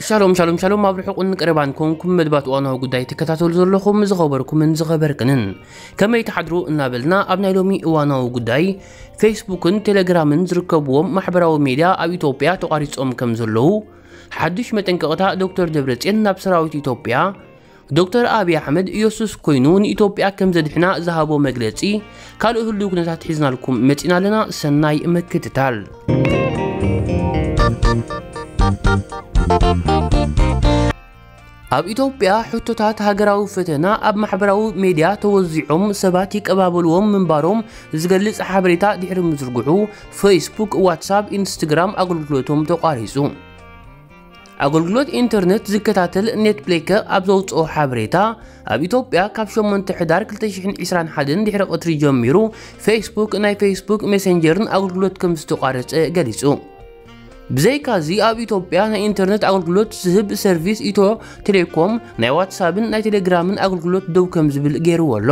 ሻሎም ሻሎም ሻሎም፣ ኣብ ርሑቕን ቀረባን ኮንኩም መድባት እዋናዊ ጉዳይ ትከታተሉ ዘለኹም ዝኸበርኩምን ዝኸበርክንን፣ ከመይ ትሓድሩ እናበልና፣ ኣብ ናይ ሎሚ እዋናዊ ጉዳይ፣ ፌስቡክን ቴሌግራምን ዝርከብዎም ማሕበራዊ ሜድያ ኣብ ኢትዮጵያ ተቋሪጾም ከም ዘለዉ፣ ሓድሽ መጠንቀቕታ ዶክተር ደብረጽዮን ናብ ሰራዊት ኢትዮጵያ፣ ዶክተር ኣብይ ኣሕመድ ኢየሱስ ኮይኑ ንኢትዮጵያ ከም ዘድሕና ዝሃቦ መግለጺ፣ ካልእ ህሉው ኩነታት ሒዝናልኩም መጺና ኣለና። ሰናይ ምክትታል። ኣብ ኢትዮጵያ፣ ሕቶታት ሃገራዊ ፈተና ኣብ ማሕበራዊ ሜድያ ተወዚዖም ሰባት ይቀባበልዎም ምንባሮም ዝገልጽ ሓበሬታ ድሕሪ ምዝርግሑ፣ ፌስቡክ፣ ዋትሳፕ፣ ኢንስትግራም ኣገልግሎቶም ተቋሪጹ። ኣገልግሎት ኢንተርነት ዝከታተል ኔትብሌከ ኣብ ዘውጽኦ ሓበሬታ፣ ኣብ ኢትዮጵያ ካብ ሸሞንተ ሕዳር ክልተ ሽሕን ዕስራን ሓደን ድሕሪ ቀትሪ ጀሚሩ፣ ፌስቡክ፣ ናይ ፌስቡክ ሜሴንጀርን ኣገልግሎት ከም ዝተቋረጸ ገሊጹ። ብዘይካዚ፣ ኣብ ኢትዮጵያ ናይ ኢንተርነት ኣገልግሎት ዝህብ ሰርቪስ ኢትዮ ቴሌኮም፣ ናይ ዋትሳፕን ናይ ቴሌግራምን ኣገልግሎት ደው ከም ዝብል ገይርዎ ኣሎ።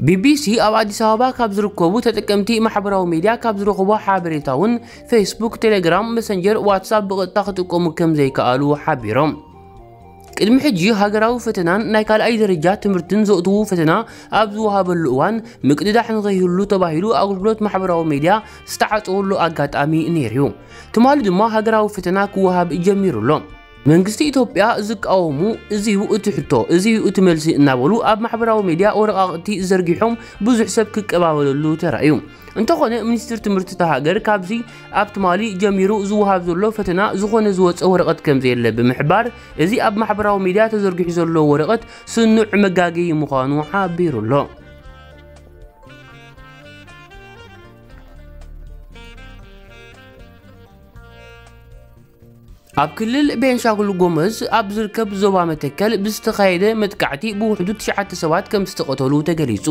ቢቢሲ ኣብ ኣዲስ ኣበባ ካብ ዝርከቡ ተጠቀምቲ ማሕበራዊ ሜድያ ካብ ዝረኽቦ ሓበሬታ እውን፣ ፌስቡክ፣ ቴሌግራም፣ መሰንጀር፣ ዋትሳፕ ብቐጥታ ክጥቀሙ ከም ዘይከኣሉ ሓቢሮም። ቅድሚ ሕጂ፣ ሃገራዊ ፈተናን ናይ ካልኣይ ደረጃ ትምህርትን ዘእትዉ ፈተና ኣብ ዝወሃበሉ እዋን፣ ምቅድዳሕ ንኸይህሉ ተባሂሉ ኣገልግሎት ማሕበራዊ ሜድያ ዝተዓጸወሉ ኣጋጣሚ ነይሩ እዩ። ትማሊ ድማ ሃገራዊ ፈተና ክወሃብ ጀሚሩ ኣሎ። መንግስቲ ኢትዮጵያ ዝቃወሙ፣ "እዚ እዩ እቲ ሕቶ፣ እዚ እዩ እቲ መልሲ" እናበሉ ኣብ ማሕበራዊ ሜድያ ወረቓቕቲ ዘርጊሖም ብዙሕ ሰብ ክቀባበለሉ ተራእዩ። እንተኾነ፣ ሚኒስትር ትምህርቲ እታ ሃገር ካብዚ ኣብ ትማሊ ጀሚሩ ዝወሃብ ዘሎ ፈተና ዝኾነ ዝወጸ ወረቐት ከም ዘየለ ብምሕባር፣ እዚ ኣብ ማሕበራዊ ሜድያ ተዘርጊሑ ዘሎ ወረቐት ስኑዕ መጋገዪ ምዃኑ ሓቢሩ ኣሎ። ኣብ ክልል ቤንሻንጉል ጎመዝ ኣብ ዝርከብ ዞባ መተከል ብዝተኻየደ መጥቃዕቲ ብውሕዱ ትሽዓተ ሰባት ከም ዝተቐተሉ ተገሊጹ።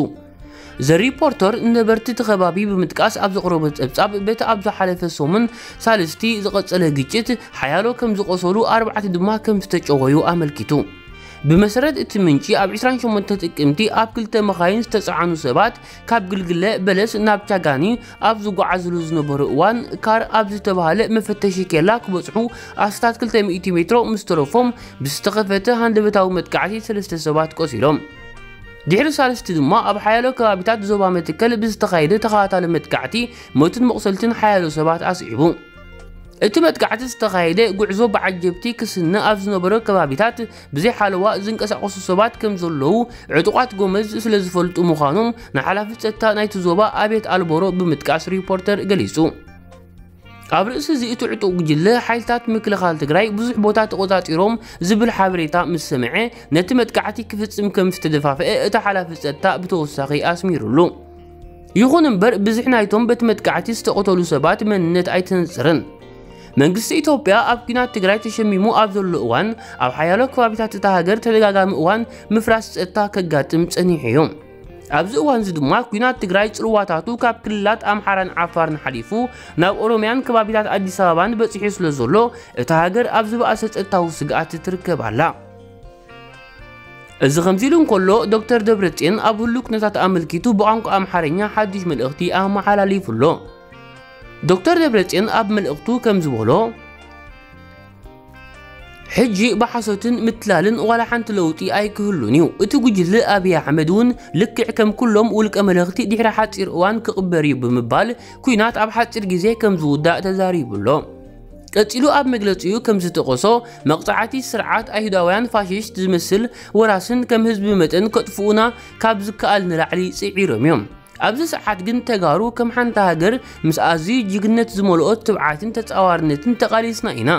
ዘ ሪፖርተር ነበርቲ እቲ ከባቢ ብምጥቃስ ኣብ ዘቕረቦ ጸብጻብ፣ በቲ ኣብ ዝሓለፈ ሰሙን ሳልስቲ ዝቐጸለ ግጭት ሓያሎ ከም ዝቖሰሉ፣ ኣርባዕተ ድማ ከም ዝተጨወዩ ኣመልኪቱ። ብመሰረት እቲ ምንጪ፣ ኣብ ዕስራን ሸሞንተ ጥቅምቲ ኣብ ክልተ መኻይን ዝተጻዕኑ ሰባት ካብ ግልግለ በለስ ናብ ቻጋኒ ኣብ ዝጓዓዝሉ ዝነበሩ እዋን፣ ካር ኣብ ዝተባህለ መፈተሺ ኬላ ክበጽሑ ኣስታት ክልተ ሚእቲ ሜትሮ ምስ ተረፎም፣ ብዝተኸፈተ ሃንደበታዊ መጥቃዕቲ ሰለስተ ሰባት ቆሲሎም። ድሕሪ ሳልስቲ ድማ ኣብ ሓያሎ ከባቢታት ዞባ መትከል ብዝተኻየደ ተኸታታሊ መጥቃዕቲ ሞትን መቑሰልትን ሓያሎ ሰባት ኣስዒቡ። እቲ መጥቃዕቲ ዝተኻየደ ጉዕዞ ብዓጀብቲ ክስነ ኣብ ዝነበሮ ከባቢታት ብዘይ ሓለዋ ዝንቀሳቐሱ ሰባት ከም ዘለዉ ዕጡቓት ጎመዝ ስለ ዝፈልጡ ምዃኖም ንሓላፊ ጸጥታ ናይቲ ዞባ ኣብየት ኣልቦሮ ብምጥቃስ ሪፖርተር ገሊጹ። ኣብ ርእሲ እዚ እቲ ዕጡቕ ጉጅለ፣ ሓይልታት ምክልኻል ትግራይ ብዙሕ ቦታ ተቖጻጺሮም ዝብል ሓበሬታ ምስ ሰምዐ፣ ነቲ መጥቃዕቲ ክፍጽም ከም ዝተደፋፍአ እቲ ሓላፊ ጸጥታ ብተወሳኺ ኣስሚሩሉ። ይኹን እምበር፣ ብዝሒ ናይቶም በቲ መጥቃዕቲ ዝተቐተሉ ሰባት መንነት ኣይተነጽርን። መንግስቲ ኢትዮጵያ ኣብ ኲናት ትግራይ ተሸሚሙ ኣብ ዘሎ እዋን፣ ኣብ ሓያሎ ከባቢታት እታ ሃገር ተደጋጋሚ እዋን ምፍራስ ጸጥታ ከጋጥም ጸኒሑ እዩ። ኣብዚ እዋን እዚ ድማ፣ ኲናት ትግራይ ጽልዋታቱ ካብ ክልላት ኣምሓራን ዓፋርን ሓሊፉ ናብ ኦሮምያን ከባቢታት ኣዲስ ኣበባን በጺሑ ስለ ዘሎ፣ እታ ሃገር ኣብ ዝበኣሰ ጸጥታዊ ስግኣት ትርከብ ኣላ። እዚ ከምዚ ኢሉ እንከሎ፣ ዶክተር ደብረጽዮን ኣብ ህሉው ኩነታት ኣመልኪቱ ብቋንቋ ኣምሓርኛ ሓድሽ መልእኽቲ ኣመሓላሊፉ ኣሎ። ዶክተር ደብረጽዮን ኣብ መልእኽቱ ከም ዝበሎ፣ ሕጂ ብሓሶትን ምትላልን ዋላ ሓንቲ ለውጢ ኣይክህሉን እዩ። እቲ ጉጅለ ኣብይ ኣሕመድ እውን ልክዕ ከም ኩሎም ውልቀ መለኽቲ ድሕሪ ሓጺር እዋን ክቕበር እዩ ብምባል፣ ኲናት ኣብ ሓጺር ግዜ ከም ዝውዳእ ተዛሪቡ ኣሎ። ቀጺሉ ኣብ መግለጺኡ ከም ዝጠቐሶ፣ መቕጻዕቲ ስርዓት ኣይሁዳውያን ፋሽስት ዝመስል ወራስን ከም ህዝቢ መጠን ከጥፍኡና ካብ ዝከኣል ንላዕሊ ጽዒሮም እዮም። ኣብዚ ሰዓት ግን ተጋሩ ከም ሓንቲ ሃገር ምስ ኣዝዩ ጅግነት ዝመልኦ ትብዓትን ተጻዋርነትን ተቓሊስና ኢና።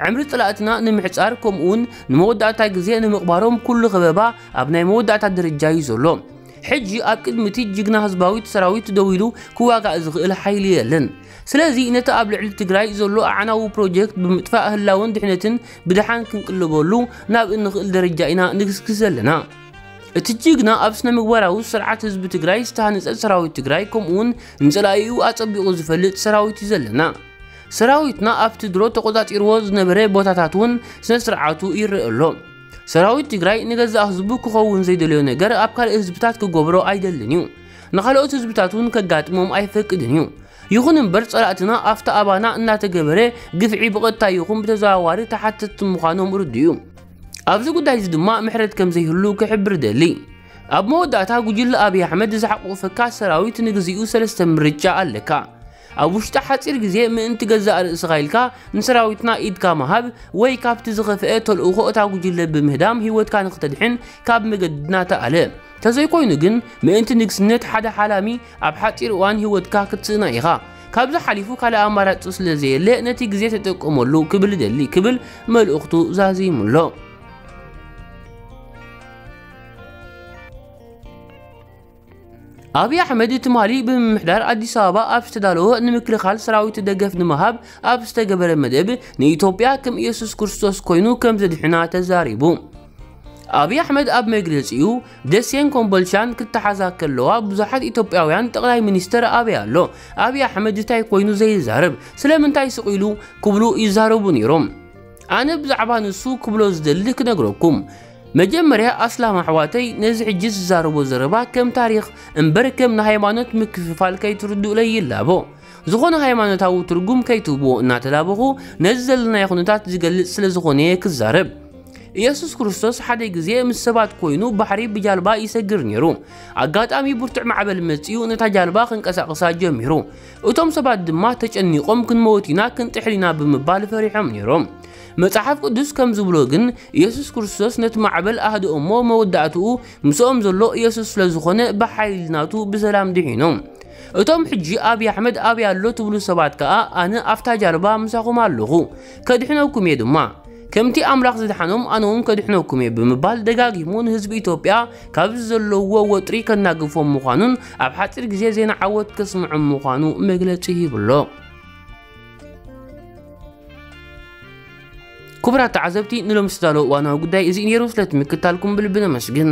ዕምሪ ጸላእትና ንምሕጻር፣ ከምኡውን ንመወዳእታ ግዜ ንምቕባሮም ኩሉ ከበባ ኣብ ናይ መወዳእታ ደረጃ እዩ ዘሎ። ሕጂ ኣብ ቅድሚ እቲ ጅግና ህዝባዊት ሰራዊት ደው ኢሉ ክዋጋእ ዝኽእል ሓይሊ የለን። ስለዚ ነቲ ኣብ ልዕሊ ትግራይ ዘሎ ኣዕናዊ ፕሮጀክት ብምጥፋእ ህላወን ድሕነትን ብደሓን ክንቅልበሉ ናብ እንኽእል ደረጃ ኢና ንግስግስ ዘለና። እቲ ጅግና ኣብ ስነ ምግባራዊ ስርዓት ህዝቢ ትግራይ ዝተሃነጸ ሰራዊት ትግራይ፣ ከምኡውን ንጸላኢኡ ኣጸቢቑ ዝፈልጥ ሰራዊት እዩ ዘለና። ሰራዊትና ኣብቲ ድሮ ተቖጻጺርዎ ዝነበረ ቦታታት እውን ስነ ስርዓቱ ይረአ ኣሎ። ሰራዊት ትግራይ ንገዛእ ህዝቡ ክኸውን ዘይደለዮ ነገር ኣብ ካልእ ህዝብታት ክገብሮ ኣይደልን እዩ። ንኻልኦት ህዝብታት እውን ከጋጥሞም ኣይፈቅድን እዩ። ይኹን እምበር ጸላእትና ኣብቲ ኣባና እናተገበረ ግፍዒ ብቐጥታ ይኹን ብተዘዋዋሪ ተሓተትቲ ምዃኖም ርዱእ እዩ። ኣብዚ ጉዳይ እዚ ድማ ምሕረት ከም ዘይህሉ ክሕብር ደሊ። ኣብ መወዳእታ ጉጅለ ኣብይ ኣሕመድ ዝሓቆፈካ ሰራዊት ንግዚኡ ሰለስተ ምርጫ ኣለካ። ኣብ ውሽጢ ሓጺር ግዜ ምእንቲ ገዛእ ርእስኻ ኢልካ ንሰራዊትና ኢድካ ምሃብ ወይ ካብቲ ዝኸፍአ ተልእኾ እታ ጉጅለ ብምህዳም ህይወትካ ንክተድሕን ካብ መገድና ተኣለ። ተዘይኮይኑ ግን ምእንቲ ንግስነት ሓደ ሓላሚ ኣብ ሓጺር እዋን ህይወትካ ክትስእና ኢኻ። ካብዚ ሓሊፉ ካልእ ኣማራጺ ስለ ዘየለ ነቲ ግዜ ተጠቀመሉ ክብል እደሊ ክብል መልእኽቱ ዛዚሙሎ። ኣብይ ኣሕመድ ትማሊ ብምምሕዳር ኣዲስ ኣበባ ኣብ ዝተዳለወ ንምክልኻል ሰራዊት ደገፍ ንምሃብ ኣብ ዝተገበረ መደብ ንኢትዮጵያ ከም ኢየሱስ ክርስቶስ ኮይኑ ከም ዘድሕና ተዛሪቡ። ኣብይ ኣሕመድ ኣብ መግለጺኡ ደሴን ኮምቦልቻን ክተሓዛ ከለዋ ብዙሓት ኢትዮጵያውያን ጠቕላይ ሚኒስተር ኣበይ ኣሎ? ኣብይ ኣሕመድ እንታይ ኮይኑ ዘይዛረብ? ስለምንታይ ስቕ ኢሉ? ክብሉ ይዛረቡ ነይሮም። ኣነ ብዛዕባ ንሱ ክብሎ ዝደሊ ክነግረኩም። መጀመርያ ኣስላም ኣሕዋተይ ነዚ ሕጂ ዝዛረቦ ዘረባ ከም ታሪኽ እምበር ከም ንሃይማኖት ምክፍፋል ከይትርድኡለይ ይላቦ። ዝኾነ ሃይማኖታዊ ትርጉም ከይትህብዎ እናተላበኹ ነዚ ዘለናዮ ኩነታት ዝገልጽ ስለ ዝኾነ እየ ክዛረብ። ኢየሱስ ክርስቶስ ሓደ ግዜ ምስ ሰባት ኮይኑ ባሕሪ ብጃልባ ይሰግር ነይሩ። ኣጋጣሚ ብርቱዕ ማዕበል መጺኡ ነታ ጃልባ ክንቀሳቕሳ ጀሚሩ። እቶም ሰባት ድማ ተጨኒቖም ክንመውት ኢና ክንጥሕል ኢና ብምባል ፈሪሖም ነይሮም። መጽሓፍ ቅዱስ ከም ዝብሎ ግን ኢየሱስ ክርስቶስ ነቲ ማዕበል ኣህድኦ እሞ መወዳእትኡ ምስኦም ዘሎ ኢየሱስ ስለ ዝኾነ ብሓይሊ ናቱ ብሰላም ድሒኖም። እቶም ሕጂ ኣብይ ኣሕመድ ኣበይ ኣሎ ትብሉ ሰባት ከኣ ኣነ ኣብታ ጃልባ ምሳኹም ኣለኹ፣ ከድሕነኩም እየ ድማ። ከምቲ ኣምላኽ ዝደሓኖም ኣነ እውን ከድሕነኩም እየ ብምባል ደጋጊሙ ንህዝቢ ኢትዮጵያ ካብዚ ዘለውዎ ወጥሪ ከናግፎም ምዃኑን ኣብ ሓጺር ግዜ ዜና ዓወት ከስምዖም ምዃኑ መግለጺ ሂብሎ። ክቡራት ተዓዘብቲ ንሎም ዝተዳለወ እዋናዊ ጉዳይ እዚ ነይሩ። ስለቲ ምክታልኩም ብልቢ ነመስግን።